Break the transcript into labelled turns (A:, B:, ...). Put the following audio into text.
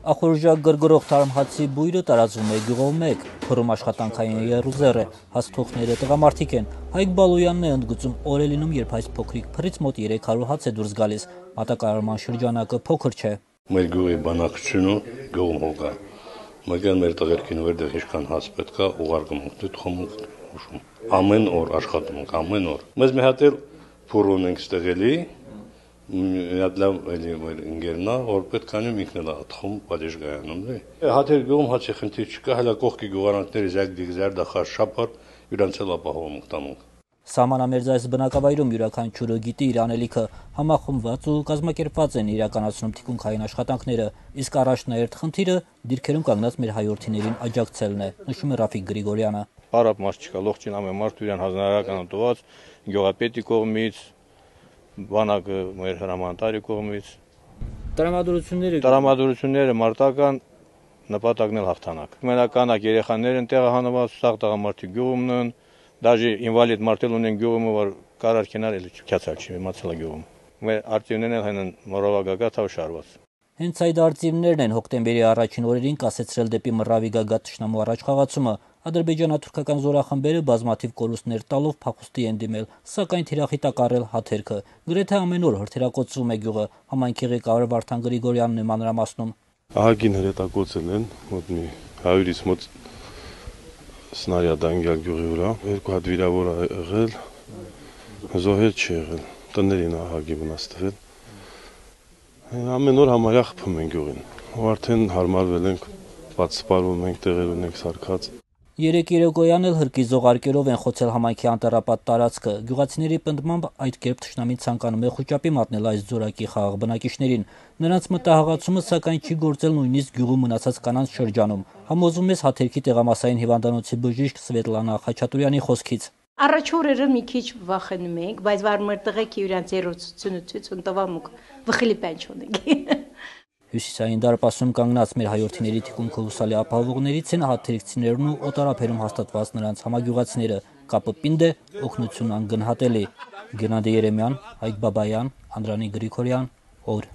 A: Ախորժակ գրգռող թարմհացի բույրը տարածվում է գյուղով մեկ, փռում աշխատանքային եռուզեռ է, հասցողները տղամարդիկ են։ Հայկ Բալոյանն է ընդգծում օր է լինում, երբ այս փոքրիկ փռից մոտ 300 հաց է դուրս գալիս, մատակարարման շրջանակը փոքր չէ։
B: Մեր գյուղի բնակչությունը գյուղում հոգա, մեկը մեր տղերքին վերդեղ ինչքան հաց պետք է ուղարկում ենք, խմում ուշում։ Ամեն օր աշխատում ենք, ամեն օր։ Մեզ մի հատ էլ փուր ունենք ստեղելի, Միատ լավ էլի մեր ընկերնա, որ պետք է անեմ ինքն էլ ատխում պատեժգայանում դե։ Հաթեր գյուղում հացի խնդիր չկա, հələ կողքի գյուղարանքների զագդիկ զարդախար շապար իրանց էլ ապահովում ենք տանում։
A: Սահմանամերձ այս բնակավայրում յուրաքանչյուրը գիտի իր անելիքը, համախմբված ու կազմակերպված են իրականացնում թիկունքային աշխատանքները, իսկ առաջնահերթ խնդիրը դիրքերում կանգնած մեր հայրենիներին աջակցելն է, նշում է Ռաֆիկ Գրիգորյանը։
C: Պարապ մարդ չկա, լողջին ամեն մարդու իրան հանրահարական տված, գյուղապետի կողմից, բանակը մեր հրամանատարի կողմից։ Տրամադրությունները մարտական նպատակն էլ հաղթանակ։ Մենականակ երեխաներ են տեղահանված, սաղ տղամարդիկ գյուղումն են, դաժե ինվալիդ մարդել ունեն գյուղում, որ կարարքենար էլ չքյացալ չի մացել գյուղում։ Մեր արտիվներն էլ հեն մորովագագա թավշարված։
A: Հենց այդ արտիվներն են հոկտեմբերի առաջին օրերին կասեցրել դեպի Մռավի գագաթ թշնամու առաջխաղացումը։ Ադրբեջանա-թուրքական զորախմբերը բազմաթիվ կորուստներ տալով փախուստի են դիմել, սակայն թիրախի տակառել հաթերքը։ Գրեթե ամեն օր հրթիռակոծվում է գյուղը, համայնքի ղեկավար Վարդան Գրիգորյանն է մանրամասնում։
D: Ահագին հրետակոծել են, մոտ մի 100-ից մոտ սնարյադ անգյալ գյուղի վրա, 2 հատ վիրավոր ա եղել, զոհեր չի եղել, տներին ահագի վնաս տվել։ Ամեն օր համարյա խփում են գյուղին, ու արդեն հարմարվել ենք, բաց սպարվում ենք, տեղեր ունենք սարքած։
A: Երեկ երեկոյան էլ հրկի զողարկերով են խոցել համայնքի անտառապատ տարածքը։ Գյուղացիների պնդմամբ այդ կերպ թշնամին ցանկանում է խոճապի մատնել այս զորակի խաղաղ բնակիչներին։ Նրանց մտահղացումը սակայն չի գործել նույնիսկ գյուղում մնացած կանանց շրջանում։ Համոզում է հաթերքի տեղամասային հիվանդանոցի բժիշկ Սվետլանա Խաչատուրյանի խոսքից։
E: Առաջ օրերը մի քիչ վախենում ենք, բայց վար մեր տղեկ իրանց երոցությունը ցույց տվամուկ վխելի պանչ ունենք։
A: Հյուսիսային դարպասում կանգնած մեր հայրենիների թիկունքը հուսալի ապահովողներից են հաթերքցիներն ու օտարափերում հաստատված նրանց համագյուղացիները։ Կապը պինդ է, օգնությունն անգնահատելի։ Գենադի Երեմյան, Հայկ Բաբայան, Անդրանիկ Գրիգորյան, օր։